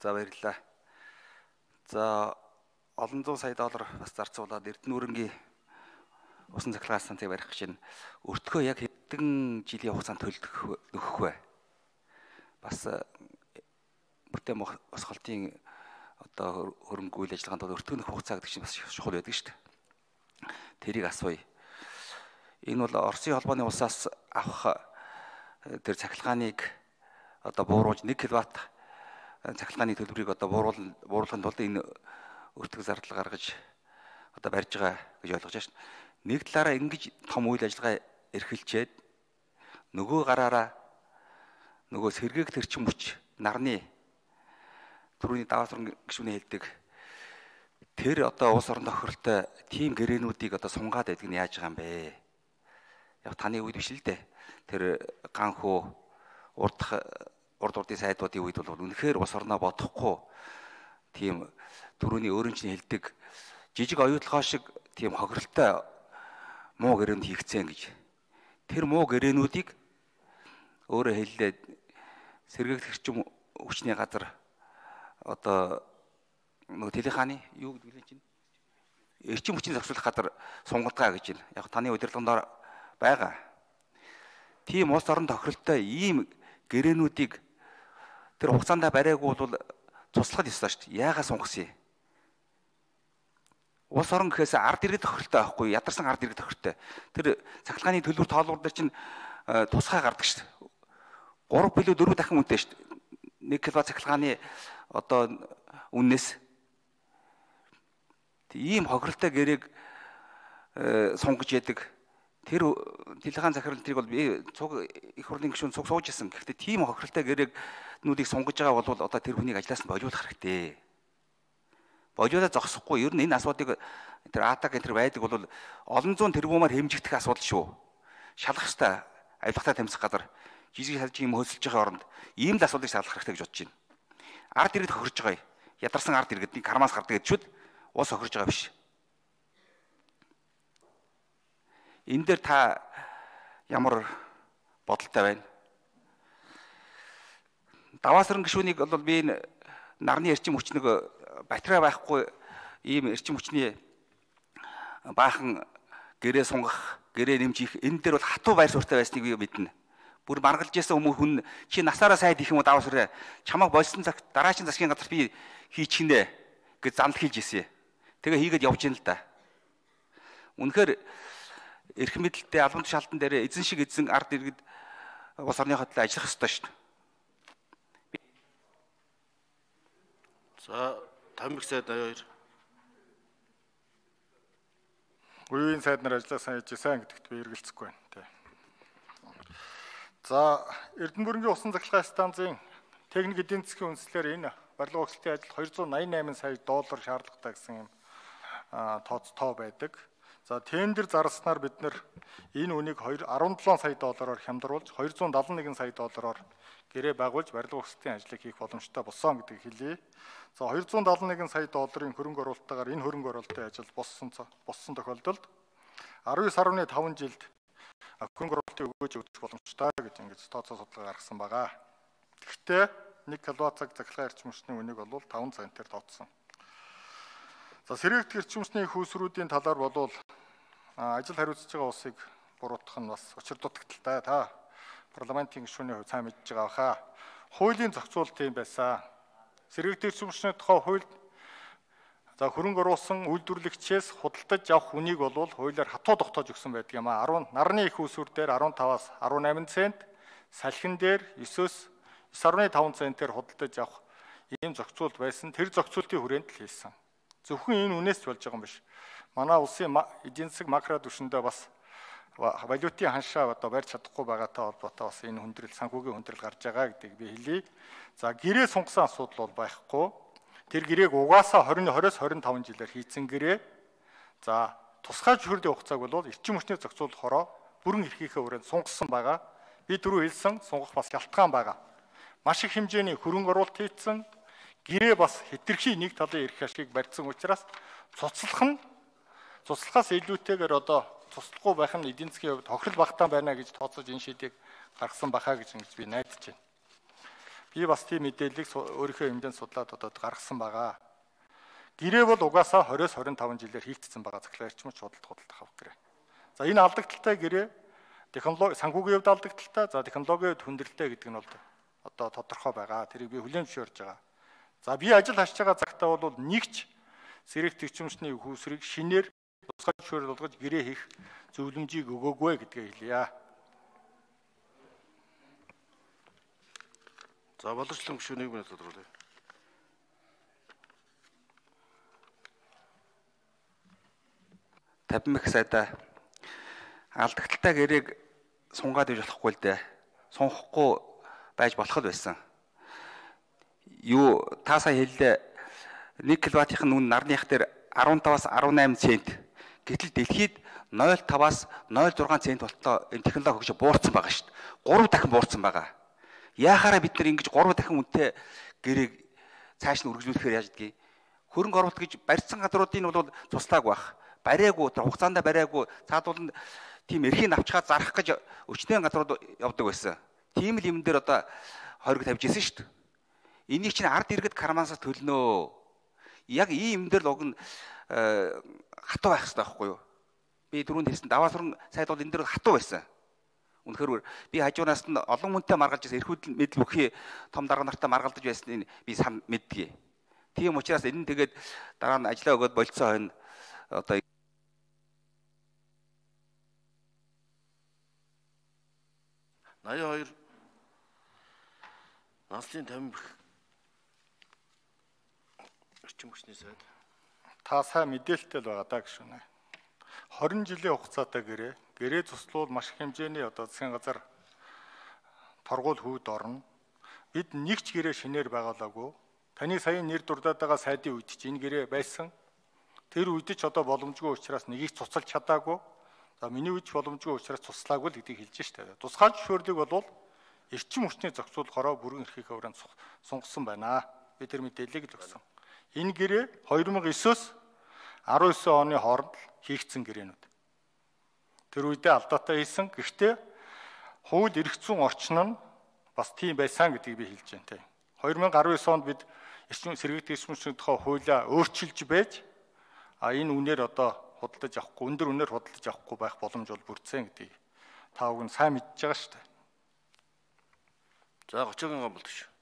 За баярлалаа. За олон зуун сая доллар бас зарцуулаад Эрдэнэ усан цахилгаан станцыг барих гэж байна. Өртгөө яг хэдэн жилийн хугацаанд төлөх нөхөх вэ? Бас бүтээн босголтын одоо хөрөнгө үйл ажиллагаанд бол өртгөө нөх хугацаа гэдэг чинь бас чухал байдаг шүү дээ. Тэрийг асууя. Энэ бол Оросын холбооны улсаас авах тэр цахилгааныг одоо бууруулж 1 кВт цахилгааны төлбөрийг одоо бууруулахын тулд энэ өртөг зардал гаргаж одоо барьж байгаа гэж ойлгож байна шүү. Нэг талаараа ингэж том үйл ажиллагаа эрхэлчээд нөгөө гараараа нөгөө сэргээг төрчин хүч нарны түрүүний даваа суран гишүүний хэлдэг тэр одоо улс орон тохиролтой тийм гэрээнүүдийг одоо сунгаад байдаг нь яаж байгаа юм бэ? Яг таны үед биш л дээ. Тэр ганхуу урд урдын сайдуудын үед бол үнэхээр улс орноо бодохгүй тийм түрүүний өөрөмчний хэлдэг жижиг оюутлогоо шиг тийм хохиролтой муу гэрээнд хийгцэн гэж. Тэр муу гэрээнүүдийг өөрөөр хэллээ сэргээгт хэрчим хүчний газар одоо нөгөө телехааны юу гэдэг вэ чинь эрчим хүчний зохицуулах газар сунгалгаа гэж байна. Яг таны удирдлагын байгаа. Тийм улс орон тохиролтой ийм гэрээнүүдийг тэр хугацаанд бариагүй бол туслахад ёстой шүү дээ. Яагаад сунгасан юм? Улс орон гэхээс ард иргэд тохиролтой байхгүй, ядарсан ард иргэд тохиролтой. Тэр цахилгааны төлбөр тоолбор дээр чинь тусгай гардаг шүү дээ. 3 билүү 4 дахин үнэтэй шүү дээ. 1 кВт цахилгааны одоо үннээс ийм хохиролтой гэрээг сунгаж яадаг. Тэр телехаан захирлтыг бол би цуг их хурлын гишүүн цуг сууж исэн. Гэхдээ тийм хохиролтой гэрээгнүүдийг сунгаж байгаа бол одоо тэр хүнийг ажлаас нь болиулах хэрэгтэй. Болиулаад зогсохгүй. Ер нь энэ асуудыг тэр атак энэ байдаг бол олон зуун тэрбумаар хэмжигдэх асуудал шүү. Шалах ёстой. Авилгатай тамхи газар жижиг салжийн юм хөөсөлж байгаа оронд ийм л асуудыг шалгах хэрэгтэй гэж бодож байна. Ард иргэд хохирж байгаа. Ядарсан ард иргэдний кармаас гардаг гэж шүүд уус хохирж байгаа биш. Энэ дээр та ямар бодолтой байна? Даваасран гишүүнийг бол би энэ нарны эрчим хүч нэг батарей байхгүй ийм эрчим хүчний баахан гэрээ сунгах, гэрээ нэмжих энэ дээр бол хатуу байр суурьтай байсныг би мэднэ. Бүр маргалж ясан хүн чи насаараа сайд их юм уу даваасраа чамайг болсон цаг дараачийн засгийн газар би хийчихнэ гэж зандал хийж ирсэн. Тэгээ хийгээд явж ийн л да. Үнэхээр эрх мэдэлтэй албан тушаалтан дээр эзэн шиг эзэн ард иргэд улс орны хөдлөө ажиллах ёстой шүү дээ. За Тамбик сайд 82. Үеийн сайд нар ажиллаа сайн хийжсэн гэдэгт би эргэлзэхгүй байна. Тэ. За Эрдэнэ бүрэнгийн усан цахилгаан станцын техник эдийн засгийн үндэслэлээр энэ барилга өгсөлтийн ажил 288 сая доллар шаардлагатай гэсэн юм тоо байдаг. За тендер зарснаар бид нэр энэ үнийг 17 сая доллараар хямдруулж 271 сая доллараар гэрээ байгуулж барилга өгсөлтийн ажлыг хийх боломжтой болсон гэдгийг хэлье. За 271 сая долларын хөрөнгө оруулалтаар энэ хөрөнгө оруулалтын ажил боссон тохиолдолд 19.5 жилд хөрөнгө оруулалтыг өгөөж өгөх боломжтой гэж ингэж тооцоо судалгаа гаргасан байгаа. Гэхдээ 1 кВт цахилгаан эрчим хүчний үнийг бол 5 центээр тооцсон. За сэргээгт эрчим хүчний хүйсрүүдийн талаар болвол ажил хариуцж байгаа улсыг буруутгах нь бас учир дутагдaltaй. Та парламентын гишүүний хувь сайн мэдж байгаа хаа. Хуулийн зохицуулалт юм байсан. Сэргээгт эрчим хүчний тухай хуульд за хөрөнгө оруулсан үйлдвэрлэгчээс худалдаж авах үнийг бол хуулиар хатуу тогтоож өгсөн байдаг юм а. Нарны их усүр дээр 15-аас 18 цент, салхин дээр 9-өөс 9.5 центээр худалдаж авах ийм зохицуулалт байсан. Тэр зохицуултын хүрээнд л хийсэн. Зөвхөн энэ үнээс ч болж байгаа юм биш. Манай улсын эдийн засаг макро түвшиндээ бас валютын ханшаа одоо барьж чадахгүй байгаатай холбоотой бас энэ хүндрэл санхүүгийн хүндрэл гарч байгаа гэдгийг би хэлье. За гэрээ сунгасан асуудал бол байхгүй. Тэр гэрээг угаасаа 20-оос 25 жилээр хийцэн гэрээ. За тусгай зөвшөөрлийн хугацааг бол эрчим хүчний зохицуулах хороо бүрэн эрхийнхээ хүрээнд сунгасан байгаа. Би түрүү хэлсэн сунгах бас ялтгаан байгаа. Маш их хэмжээний хөрөнгө оруулалт хийцэн гэрээ бас хэтэрхий нэг талын эрх ашиг барьсан учраас цуцлахаас илүүтэйгээр одоо туслахгүй байх нь эдийн засгийн хувьд хохирол багтаан байна гэж тооцож энэ шийдийг гаргасан бахаа гэж би найдаж байна. Би бас тийм мэдээллийг өөрийнхөө хэмжээнд судлаад одоо гаргасан байгаа. Гэрээ бол угаасаа 20-25 жилээр хийгдсэн байгаа захлагчмч худалдах авах гэрээ. За энэ алдагдaltaй гэрээ технологи санхүүгийн хувьд алдагдaltaй, за технологийн хувьд хүндрэлтэй гэдэг нь бол одоо тодорхой байгаа. Тэрийг би хүлээн зөвшөөрж байгаа. За би ажил хашиж байгаа цагтаа бол нэгч сэрэг төвчмчний хүүсрийг шинээр тусгай зөвшөөрөл болгож гэрээ хийх зөвлөмжийг өгөөгүй гэдгээ хэлье. За боловсролын гишүүн 1 минут тодорхойлъё. Тавмих сайда алдагдaltaй гэрээг сунгаад иж болохгүй л дээ. Сунхахгүй байж болох л байсан. Юу та сая хэллээ 1 кВт-ийн үн нарных дээр 15-аас 18 цент. Гэтэл дэлхийд 0.5-аас 0.6 цент болтоо энэ технологи хөгжиж буурсан байгаа шүү дээ. 3 дахин буурсан байгаа. Яахаараа бид нар ингэж 3 дахин үнэтэй гэрээг цааш нь үргэлжлүүлэхээр яаж гэдгийг хөрөнгө оруулалт гэж барьсан газруудын бол туслаагүй байх. Бариагүй хугацаанд бариагүй цаадууланд тийм эрхийг авчгаад зарах гэж өчнөө газрууд явдаг байсан. Тийм л юм дээр одоо хориг тавьж ирсэн шүү дээ. Энийг чинь ард иргэд кармансаас төлнөө. Яг ийм юм дээр л уг нь хатуу байх хэрэгтэй байхгүй юу? Би түрүүнд хэлсэн даваа суран сайд бол энэ дээр хатуу байсан. Үнэхээр би хажуунаас нь олон хүнтэй маргалж ирсэн эрхүүд мэдл бүхий том дарга нартай маргалдаж байсныг би сан мэддгийг. Тийм учраас энэ тэгээд дараа нь ажиллаа өгөөд болцсон хойно одоо 82 Наслын Тамбих орчин хүчний сайд. Та сайн мэдээлэлтэй л байгаа даа гişүнэ. 20 жилийн хугацаатай гэрээ цуслуул маш их хэмжээний одоо засгийн газар торгуул хүүд орно. Бид нэг ч гэрээ шинээр байгуулаагүй. Таны саяын нэр дурдаад байгаа сайдын үед ч энэ гэрээ байсан. Тэр үед ч одоо боломжгүй учраас нэгийг цуцалж чадаагүй. За миний үед боломжгүй учраас туслаагүй л гэдгийг хэлж штэ. Тусгай зөвшөөрлийг бол эрчим хүчний зохицуулахаараа бүрэн эрхийнхээ хүрээнд сунгасан байна. Би тэр мэдээллийг л өгсөн. Энэ гэрээ 2009-өөс 19 оны хооронд хийгдсэн гэрээнүүд. Тэр үедээ алдаатай хийсэн. Гэхдээ хууль эрх зүйн орчин нь бас тийм байсан гэдгийг би хэлж байна. 2019 онд бид эрчим сэргийгдэх эрчим хүчний тухай хуулиа өөрчилж байж энэ үнээр одоо худалдаж авахгүй, өндөр үнээр худалдаж авахгүй байх боломж бол бүрдсэн гэдгийг та бүхэн сайн мэдж байгаа шүү дээ. За 30-ын гомбол шүү.